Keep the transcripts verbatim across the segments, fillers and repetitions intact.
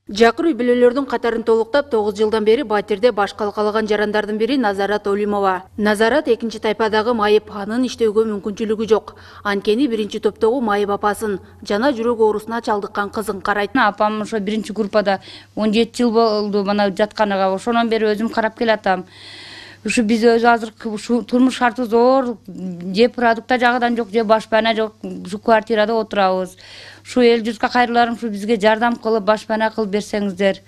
Жакыр үй бүлөлөрдүн катарын толуктап тогуз жылдан бери батирде баш калкалаган жарандардын бири Назарат Олимова. Назарат экинчи тайпадагы майып, анын иштөөгө мүмкүнчүлүгү жок. Анткени биринчи топтогу майып апасын жана жүрөк оорусуна чалдыккан кызын карайт. Апам ошо биринчи группада он жети жыл болду мана жатканыга. Ошондон бери өзүм карап келатам. Ушу биз өзү азыр ушу турмуш шарты зор, же продукта жагыдан жок, же башпана жок, ушу квартирада отурабыз. Ушу эл журтка кайрыларым ушу бизге жардам кылып, башпана кылып берсеңиздер.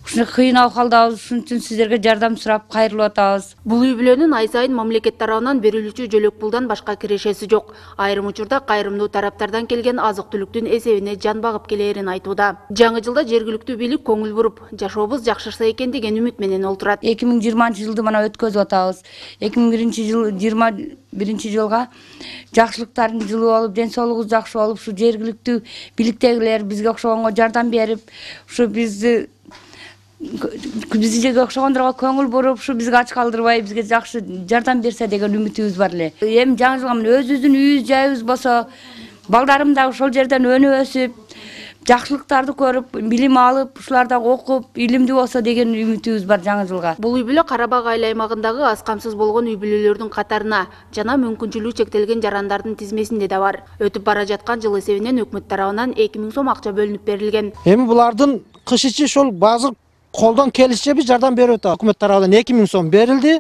Ушуна кыйын абалдабыз, ушун үчүн сиздерге жардам сурап кайрылып атабыз. Бул үй бүлөнүн ай сайын мамлекет тарабынан берилүүчү жөлөк пулдан башка кирешеси жок. Айрым учурда кайрымдуу тараптардан келген азык-түлүктүн эсебине жан багып келээрин айтууда. Жаңы жылда жергиликтүү бийлик көңүл буруп, жашообуз жакшырса экен деген үмүт менен олтурат. эки миң жыйырманчы жылды мына өткөзүп атабыз. эки миң биринчи жыл жыйырма биринчи жылга жакшылыктардын жылы болуп, ден соолугубуз жакшы болуп, ушу жергиликтүү бийликтегилер бизге окшогонго жардам берип, ушу бизди бизге окшогондорго көңүл буруп, ушу бизге ач калтырбай, бизге жакшы жардам берсе деген үмүтүбүз бар эле. Эми жаңы жылга мына өзүбүздүн үйүбүз жайыбыз болсо, балдарым да ошол жерден өнүп өсүп, жакшылыктарды көрүп, билим алып, ушулар да окуп, илимдүү болсо деген үмүтүбүз бар жаңы жылга. Бул үй бүлө Карабак айыл аймагындагы аз камсыз болгон үй бүлөлөрдүн катарына жана мүмкүнчүлүгү чектелген жарандардын тизмесинде да бар. Өтүп бара жаткан жыл эсебинен өкмөт тарабынан эки миң сом акча бөлүнүп берилген. Эми булардын кыш ичи ошол базыр колдон келишче биз жардам берип атабыз. Өкмөт тарабынан эки миң сом берилди,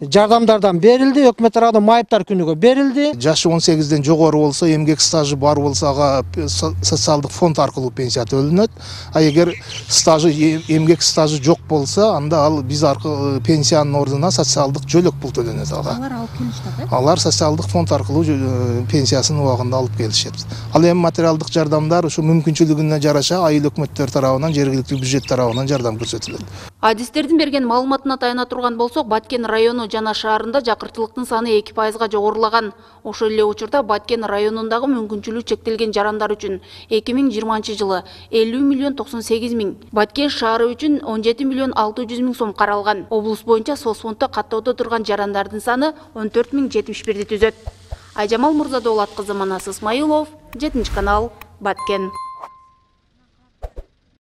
жардамдардан берилди, өкмөт тарабынан майыптар күнүгө берилди. Жашы он сегизден жогору болсо, эмгек стажы бар болсо, ага социалдык фонд аркылуу пенсия төлөнөт. А эгер стажы эмгек стажы жок болсо, анда ал биз аркылуу пенсиянын ордуна социалдык жөлөк пул төлөнөт ага. Алар алып келишет, э? Алар социалдык фонд аркылуу пенсиясын убагында алып келишет. Ал эми материалдык жардамдар ушу мүмкүнчүлүгүнө жараша айыл өкмөттөр тарабынан, жергиликтүү бюджет тарабынан жардам көрсөтүлөт. Адистердин берген маалыматына таяна турган болсок, Баткен району жана шаарында жакыртылыктын саны эки пайызга жогорулаган. Ошол эле учурда Баткен районундагы мүмкүнчүлүгү чектелген жарандар үчүн эки миң жыйырманчы жылы элүү миллион токсон сегиз миң, Баткен шаары үчүн он жети миллион алты жүз миң сом каралган. Облус боюнча соцфонддо каттоодо турган жарандардын саны он төрт миң жетимиш бирди түзөт. Айжамал Мурзадолат кызы, Манас Исмаилов, жетинчи канал, Баткен.